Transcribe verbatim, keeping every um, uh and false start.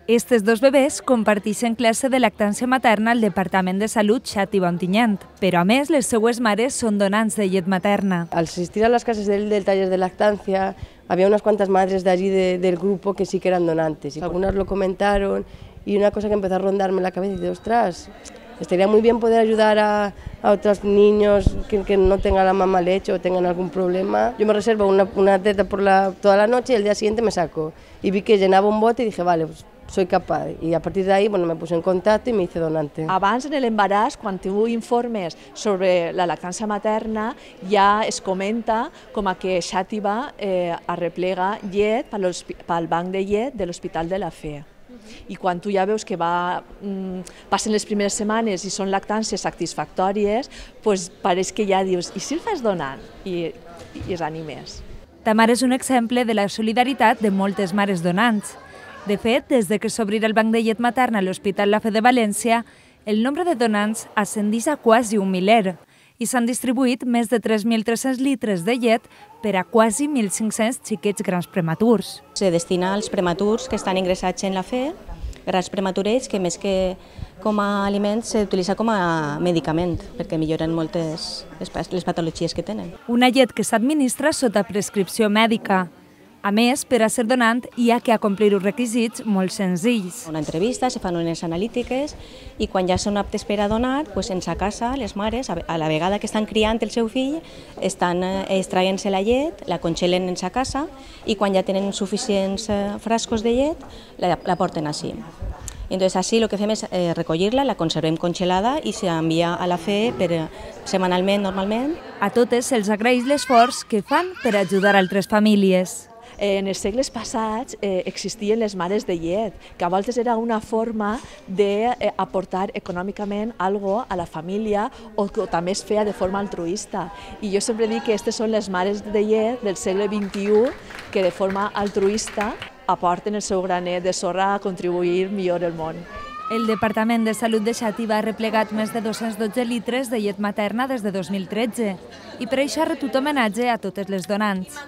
Estes dos bebès comparteixen classe de lactància materna al Departament de Salut Xàtiva Ontinyent, però a més les seues mares són donants de llet materna. Al asistir a las clases del, del taller de lactancia, había unas cuantas madres de allí de, del grupo que sí que eran donantes. Y algunas lo comentaron y una cosa que empezó a rondarme en la cabeza y dije, ostras, estaría muy bien poder ayudar a, a otros niños que, que no tengan la mamá leche o tengan algún problema. Yo me reservo una, una teta por la, toda la noche y el día siguiente me saco. Y vi que llenaba un bote y dije, vale, pues soy capaz. Y a partir de ahí bueno, me puse en contacto y me hice donante. Abans, en l'embaràs, quan tu informes sobre la lactància materna, ja es comenta com a que Xàtiva eh, arreplega llet pel banc de llet de l'Hospital de la Fe. I quan tu ja veus que va, passen les primeres setmanes i són lactàncies satisfactòries, doncs pareix que ja dius, i si el fas donant? I, i es animes. Tamara és un exemple de la solidaritat de moltes mares donants. De fet, des de que s'obrirà el banc de llet materna a l'Hospital La Fe de València, el nombre de donants ascendeix a quasi un miler i s'han distribuït més de tres mil tres-cents litres de llet per a quasi mil cinc-cents xiquets grans prematurs. Se destina als prematurs que estan ingressats en la Fe, grans prematurets que més que com a aliment s'utilitza com a medicament perquè milloren moltes les patologies que tenen. Una llet que s'administra sota prescripció mèdica. A més, per a ser donant hi ha que acomplir uns requisits molt senzills. Una entrevista, se fan unes analítiques i quan ja són aptes per a donar, doncs en sa casa, les mares, a la vegada que estan criant el seu fill, estan extraient-se la llet, la congelen en sa casa i quan ja tenen suficients frascos de llet, la, la porten així. Entonces, així el que fem és eh, recollir-la, la conservem congelada i s'envia a la Fe per, setmanalment, normalment. A totes se'ls agraeix l'esforç que fan per ajudar altres famílies. En els segles passats eh, existien les mares de llet, que a voltes era una forma d'aportar econòmicament alguna a la família o que també es feia de forma altruista. I jo sempre dic que aquestes són les mares de llet del segle vint-i-u que de forma altruista aporten el seu granet de sorra a contribuir millor al món. El Departament de Salut de Xàtiva ha replegat més de dos-cents dotze litres de llet materna des de dos mil tretze i per això ha retut homenatge a totes les donants.